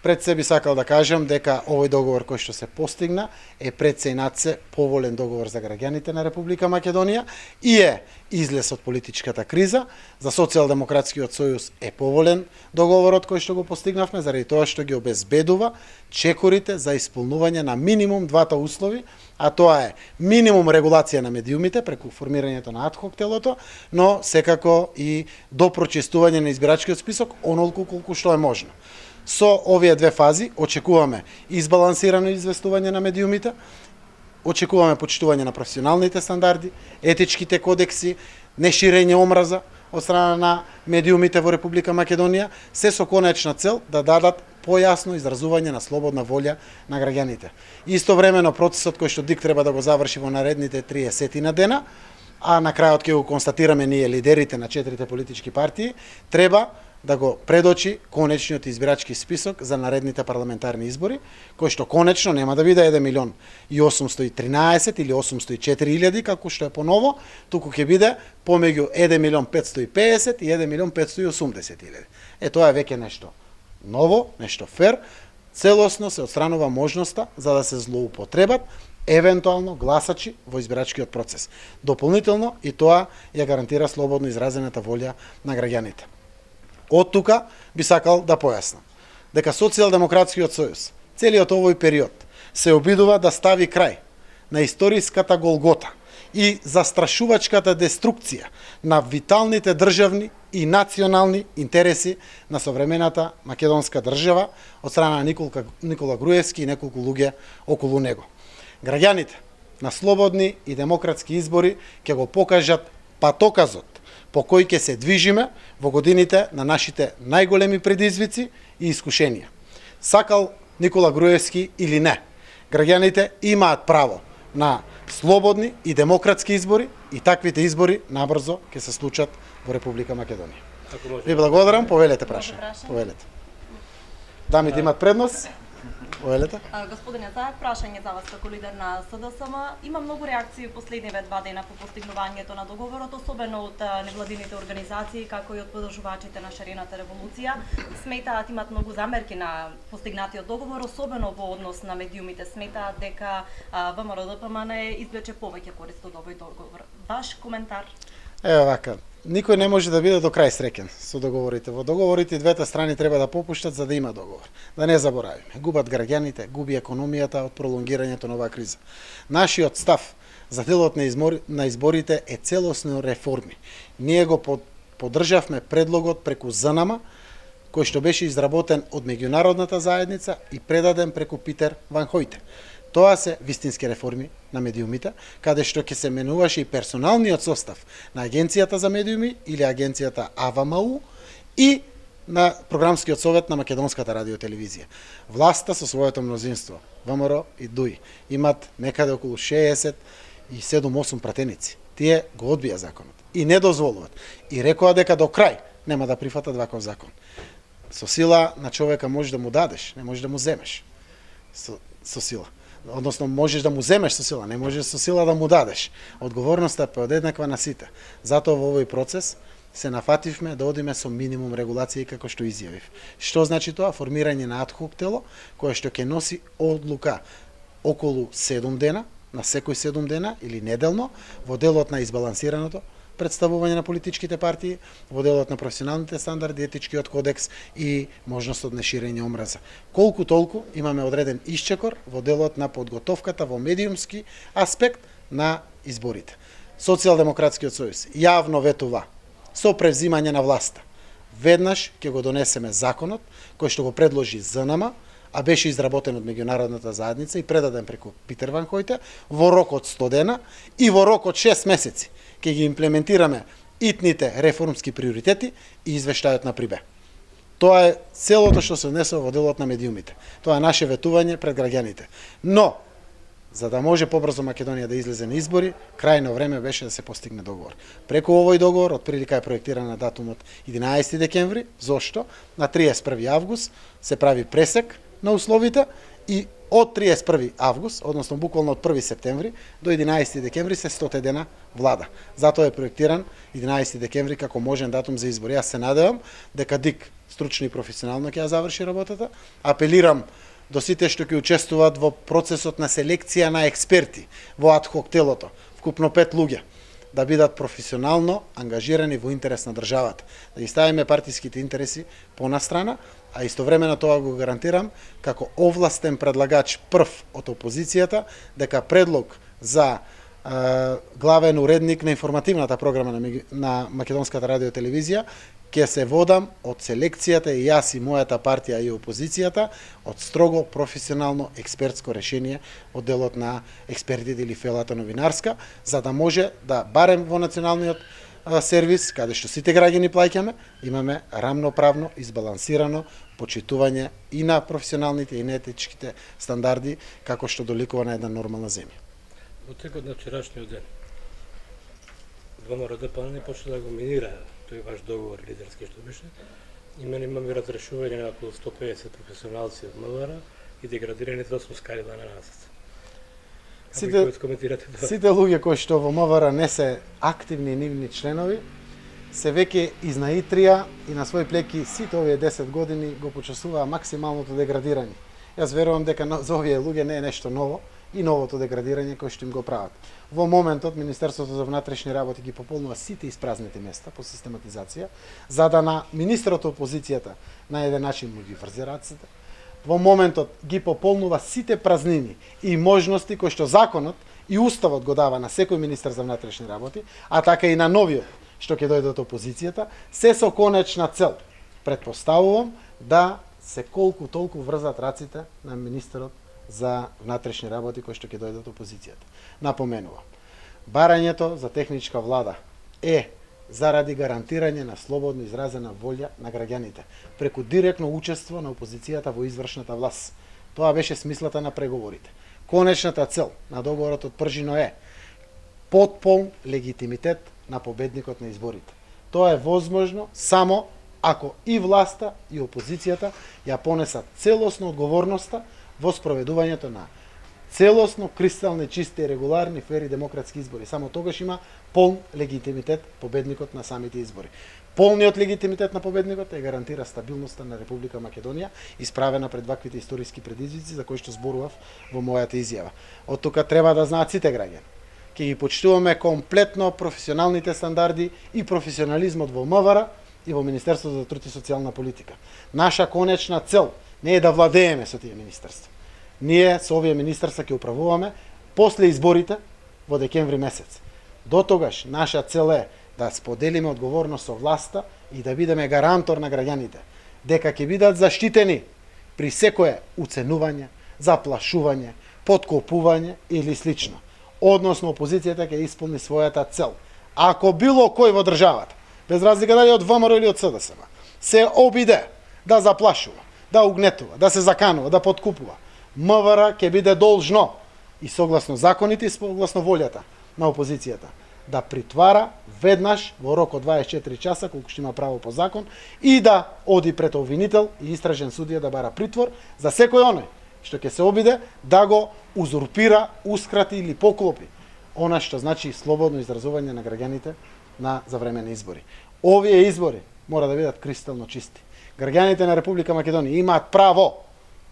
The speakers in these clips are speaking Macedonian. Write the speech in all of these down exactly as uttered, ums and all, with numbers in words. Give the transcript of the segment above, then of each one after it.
Пред се би сакал да кажам дека овој договор кој што се постигна е пред се и над се поволен договор за граѓаните на Република Македонија и е излез од политичката криза. За Социјалдемократскиот сојуз е поволен договорот кој што го постигнавме заради тоа што ги обезбедува чекорите за исполнување на минимум двата услови, а тоа е минимум регулација на медиумите преку формирањето на адхок телото, но секако и до прочистување на избирачкиот список онолку колку што е можно. Со овие две фази очекуваме избалансирано известување на медиумите, очекуваме почитување на професионалните стандарди, етичките кодекси, неширење омраза од страна на медиумите во Република Македонија, се со конечна цел да дадат појасно изразување на слободна волја на граѓаните. Истовремено процесот кој што ДИК треба да го заврши во наредните триесет на дена, а на крајот ќе го констатираме ние лидерите на четирите политички партии, треба да го предочи конечниот избирачки список за наредните парламентарни избори, кој што конечно нема да биде еден милион и осумстотини и тринаесет или осумстотини и четири илјади, како што е поново, туку ќе биде помеѓу еден милион петстотини и педесет и еден милион петстотини и осумдесет илјади. Е, тоа е веќе нешто ново, нешто фер, целосно се отстранува можноста за да се злоупотребат евентуално гласачи во избирачкиот процес. Дополнително и тоа ја гарантира слободно изразената волја на граѓаните. Од тука би сакал да појаснам дека Социјалдемократскиот сојуз целиот овој период се обидува да стави крај на историската голгота и застрашувачката деструкција на виталните државни и национални интереси на современата македонска држава од страна на Никола, Никола Груевски и неколку луѓе околу него. Граѓаните на слободни и демократски избори ќе го покажат патоказот по кој ќе се движиме во годините на нашите најголеми предизвици и искушенија. Сакал Никола Груевски или не, граѓаните имаат право на слободни и демократски избори и таквите избори набрзо ќе се случат во Република Македонија. Ви благодарам, повелете прашање. Повелете. Дамите имат предност. Повелете. Господине Заев, прашање за вас како лидер на СДСМ. Има многу реакции последниве два дена по постигнувањето на договорот, особено од невладините организации, како и од подржувачите на шарената револуција. Сметаат, имат многу замерки на постигнатиот договор, особено во однос на медиумите. Сметаат дека ВМРО Д П М Н извлече повеќе корист од овој договор. Ваш коментар? Ева вака. Никој не може да биде до крај среќен со договорите. Во договорите двете страни треба да попуштат за да има договор. Да не заборавиме. Губат граѓаните, губи економијата од пролонгирањето на оваа криза. Нашиот став за делот на, измор... на изборите е целосно реформи. Ние го под... поддржавме предлогот преку З Н М, кој што беше изработен од меѓународната заедница и предаден преку Питер Ван Хојте. Тоа се вистински реформи на медиумите, каде што ќе се менуваше и персоналниот состав на Агенцијата за медиуми или Агенцијата А В М У и на Програмскиот совет на Македонската радиотелевизија. Власта со своето мнозинство, ВМРО и Д У И, имат некаде околу шеесет и седум-осум пратеници. Тие го одбија законот и не дозволуваат. И рекоа дека до крај нема да прифатат ваков закон. Со сила на човека можеш да му дадеш, не можеш да му земеш. Со, со сила. Односно, можеш да му земеш со сила, не можеш со сила да му дадеш. Одговорноста е поеднаква на сите. Затоа во овој процес се нафативме да одиме со минимум регулации како што изјавив. Што значи тоа? Формирање на адхок тело, кое што ќе носи одлука околу седум дена, на секој седум дена или неделно, во делот на избалансираното представување на политичките партии, во делот на професионалните стандарди, етичкиот кодекс и можност од неширење омраза. Колку толку имаме одреден исчекор во делот на подготовката во медиумски аспект на изборите. Социјалдемократскиот сојуз јавно ветува со превзимање на власта. Веднаш ќе го донесеме законот кој што го предложи З Н М, а беше изработен од меѓународната заедница и предаден преку Питер Ван Хојте во рок од сто дена и во рок од шест месеци ќе ги имплементираме итните реформски приоритети и извештајот на Прибе. Тоа е целото што се однесува во делот на медиумите. Тоа е наше ветување пред граѓаните. Но, за да може побрзо Македонија да излезе на избори, крајно време беше да се постигне договор. Преку овој договор, од прилика е проектиран на датумот единаесети декември, зошто? На триесет и први август се прави пресек на условите и од триесет и први август, односно буквално од први септември до единаесети декември се сто дена влада. Затоа е проектиран единаесети декември како можен датум за избори. Јас се надевам дека ДИК стручно и професионално ќе ја заврши работата. Апелирам до сите што ќе учествуваат во процесот на селекција на експерти во адхок телото, вкупно пет луѓе, да бидат професионално ангажирани во интерес на државата, да ги ставиме партиските интереси понастрана, а истовремено тоа го гарантирам како овластен предлагач прв од опозицијата, дека предлог за е, главен уредник на информативната програма на, на Македонската радио телевизија ќе се водам од селекцијата и јас и мојата партија и опозицијата од строго професионално експертско решение од делот на експертите или фелата новинарска, за да може да барем во националниот а, сервис, каде што сите граѓани плаќаме, имаме рамноправно избалансирано почитување и на професионалните и на етичките стандарди, како што доликува на една нормална земја. Во текот на вчерашниот ден, ВМРО ДПМН не почна да го минира тој ваш договор лидерски што беше. И мене имаме разрешување на околу сто педесет професионалци од МВР и деградираните осум скарила на насец. Сите, сите луѓе кои што во МВР не се активни и нивни членови, се веќе изнаитрија и на свој плеки сите овие десет години го почувствуваа максималното деградирање. Јас верувам дека за овие луѓе не е нешто ново и новото деградирање кој што им го прават. Во моментот Министерството за внатрешни работи ги пополнува сите испразните места по систематизација, за да на министерот опозицијата на еден начин му ги врзе рацете. Во моментот ги пополнува сите празнини и можности кои што законот и уставот го дава на секој министер за внатрешни работи, а така и на новиот што ќе дојде од опозицијата, се со конечна цел. Предпоставувам да се колку толку врзат раците на министерот за внатрешни работи кои што ќе дојдат опозицијата. Напоменувам, барањето за техничка влада е заради гарантирање на слободно изразена волја на граѓаните, преку директно учество на опозицијата во извршната власт. Тоа беше смислата на преговорите. Конечната цел на договорот од Пржино е потполн легитимитет на победникот на изборите. Тоа е возможно само ако и власта и опозицијата ја понесат целосно одговорноста во спроведувањето на целосно кристални, чисти, регуларни, фери демократски избори. Само тогаш има полн легитимитет победникот на самите избори. Полниот легитимитет на победникот е гарантира стабилноста на Република Македонија, исправена пред ваквите историски предизвици за кои што зборував во мојата изјава. Од тука треба да знаат сите граѓани. Ќе ги почитуваме комплетно професионалните стандарди и професионализмот во МВР и во Министерството за труд и социјална политика. Наша конечна цел не е да владееме со тие министерства. Ние со овие министерства ќе управуваме после изборите во декември месец. До тогаш наша цел е да споделиме одговорност со власта и да бидеме гарантор на граѓаните, дека ќе бидат заштитени при секое уценување, заплашување, подкопување или слично. Односно опозицијата ќе исполни својата цел. Ако било кој во државата, без разлика дали од ВМРО или од СДСМ, се обиде да заплашува, да угнетува, да се заканува, да подкупува, МВР ќе биде должно и согласно законите и согласно волјата на опозицијата да притвара веднаш во рок од дваесет и четири часа, колку што има право по закон, и да оди пред обвинител и истражен судија да бара притвор за секој оној што ќе се обиде да го узурпира, ускрати или поклопи она што значи слободно изразување на граѓаните на за време на избори. Овие избори мора да бидат кристално чисти. Граѓаните на Република Македонија имаат право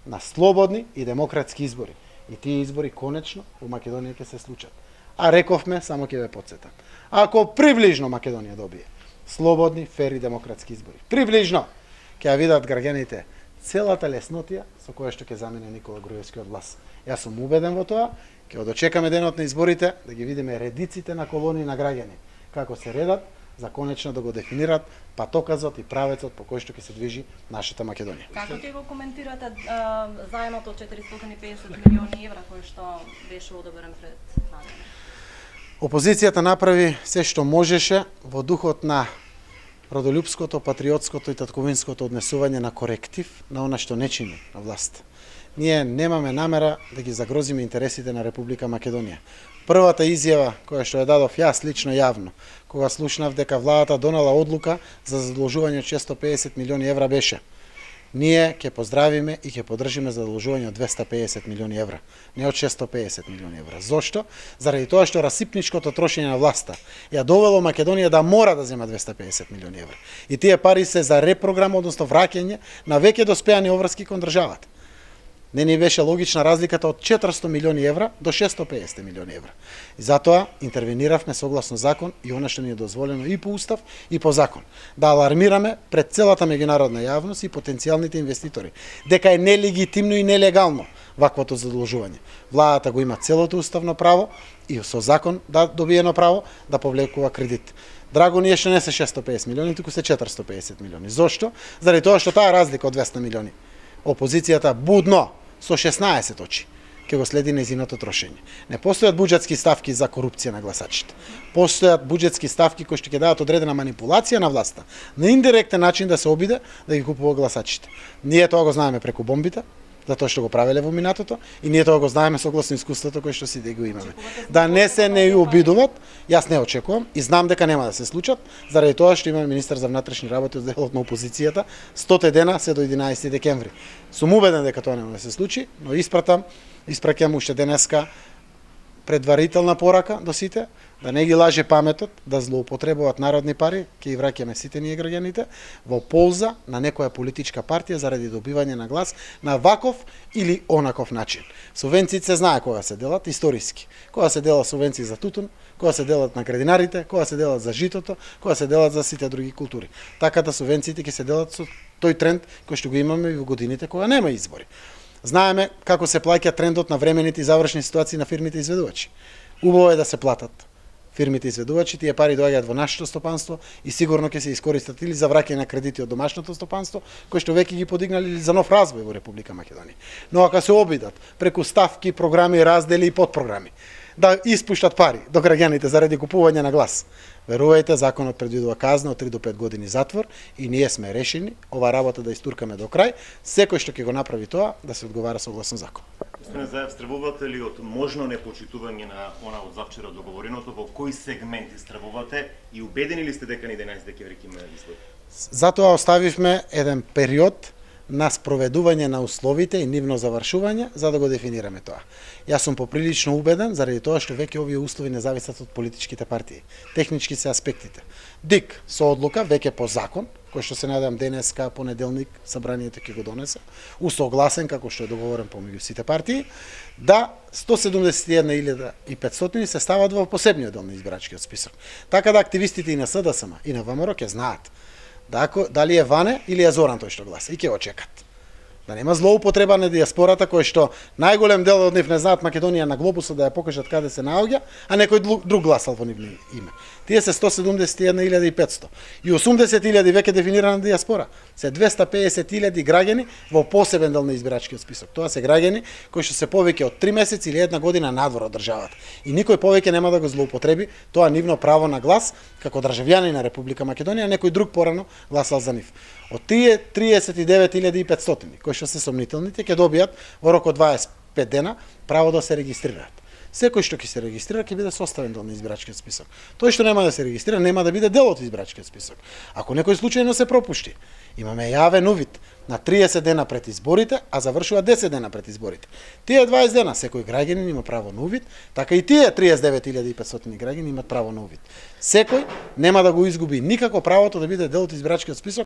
на слободни и демократски избори. И тие избори конечно во Македонија ќе се случат. А рековме, само ќе ве потсетам. Ако приближно Македонија добие слободни, фери демократски избори, приближно ќе ја видат граѓаните целата леснотија со која што ќе замине Никола Груевски од власт. Јас сум убеден во тоа, ќе дочекаме денот на изборите да ги видиме редиците на колони на граѓани како се редат за конечно да го дефинират патоказот и правецот по кој што ќе се движи нашата Македонија. Како ќе го коментирате а, заемот од четиристотини и педесет милиони евра кој што беше одобрен пред надење? Опозицијата направи се што можеше во духот на родолюбското, патриотското и татковинското однесување на коректив на она што не чини на власт. Ние немаме намера да ги загрозиме интересите на Република Македонија. Првата изјава која што ја дадов јас лично јавно, кога слушнав дека владата донела одлука за задолжување од шестстотини и педесет милиони евра беше: ние ќе поздравиме и ќе поддржиме задолжување од двесте и педесет милиони евра, не од шесто и педесет милиони евра. Зошто? Заради тоа што расипничкото трошење на власта ја довело Македонија да мора да зема двесте и педесет милиони евра. И тие пари се за репрограм, односно враќање на веќе доспеани обврски кон државата. Не ни беше логична разликата од четиристо милиони евра до шесто и педесет милиони евра. И затоа интервениравме согласно закон и она што ни е дозволено и по устав и по закон. Да алармираме пред целата меѓународна јавност и потенцијалните инвеститори дека е нелегитимно и нелегално ваквото задолжување. Владата го има целото уставно право и со закон да добиено право да повлекува кредит. Драго ни е што не се шесто и педесет милиони, туку се четиристо и педесет милиони. Зошто? Заради тоа што таа разлика од двесте милиони опозицијата будно со шеснаесет очи ќе го следи нејзиното трошење. Не постојат буџетски ставки за корупција на гласачите. Постојат буџетски ставки кои што ќе дадат одредена манипулација на власта, на индиректен начин да се обиде да ги купува гласачите. Ние тоа го знаеме преку бомбите, затоа што го правеле во минатото, и ние тоа го знаеме согласно искуството кое што си да го имаме. Да не се не обидуват, јас не очекувам и знам дека нема да се случат, заради тоа што имаме министер за внатрешни работи од делот на опозицијата, сто дена се до единаесети декември. Сум убеден дека тоа нема да се случи, но испратам, испраќам уште денеска предварителна порака до сите, да не ги лаже паметот, да злоупотребуваат народни пари, ќе ги враќаме сите ние граѓаните, во полза на некоја политичка партија заради добивање на глас на ваков или онаков начин. Субвенциите се знае кога се делат, историски. Кога се делат субвенции за тутун, кога се делат на градинарите, кога се делат за житото, кога се делат за сите други култури. Така да субвенциите ќе се делат со тој тренд кој што го имаме и во годините кога нема избори. Знаеме како се плаќа трендот на времените и завршни ситуации на фирмите изведувачи. Убаво е да се платат фирмите изведувачи, тие пари доаѓаат во нашето стопанство и сигурно ќе се искористат или за враќање на кредити од домашното стопанство, кои што веќе ги подигнали, или за нов развој во Република Македонија. Но ако се обидат преку ставки, програми, раздели и подпрограми да испуштат пари до граѓаните заради купување на глас, верувајте, законот предвидува казна од три до пет години затвор и ние сме решени ова работа да истуркаме до крај. Секој што ќе го направи тоа да се одговара согласно закон. Господине Заев, стравувате ли од можно непочитување на она од завчера договореното, во кои сегменти стравувате и убедени ли сте дека на единаесети декември ќе има избори? Затоа оставивме еден период на спроведување на условите и нивно завршување за да го дефинираме тоа. Јас сум поприлично убеден заради тоа што веќе овие услови не зависат од политичките партии. Технички се аспектите. ДИК со одлука веќе по закон, кој што се надевам денеска, понеделник, собранието ќе го донесе, усогласен како што е договорен помеѓу сите партии, да сто седумдесет и една илјада и петстотини се стават во посебниот дел на избирачкиот список. Така да активистите и на СДСМ и на ВМРО ќе знаат дали е Ване или е Зоран тој што гласа и ќе го чекат. Да нема злоупотреба на диаспората кој што најголем дел од нив не знаат Македонија на глобусот да ја покажат каде се наоѓа, а некој друг гласал во нивно име. Тие се сто седумдесет и една илјада и петсто и осумдесет илјади веќе дефинирана диаспора. Се двесте и педесет илјади граѓани во посебен дел на избирачкиот список. Тоа се граѓани кои што се повеќе од три месеци или една година надвор од државата. И никој повеќе нема да го злоупотреби тоа нивно право на глас како државјани на Република Македонија, некој друг порано гласал за нив. Од тие триесет и девет илјади и петстотини кои што се сомнителните ќе добијат во рок од дваесет и пет дена право да се регистрираат. Секој што ќе се регистрира ќе биде составен дел на избирачкиот список. Тој што нема да се регистрира нема да биде дел од избирачкиот список. Ако некој случајно се пропушти, имаме јавен увид на триесет дена пред изборите, а завршува десет дена пред изборите. Тие дваесет дена секој граѓанин има право на увид, така и тие триесет и девет илјади и петстотини граѓани имаат право на увид. Секој нема да го изгуби никако правото да биде дел од избирачкиот список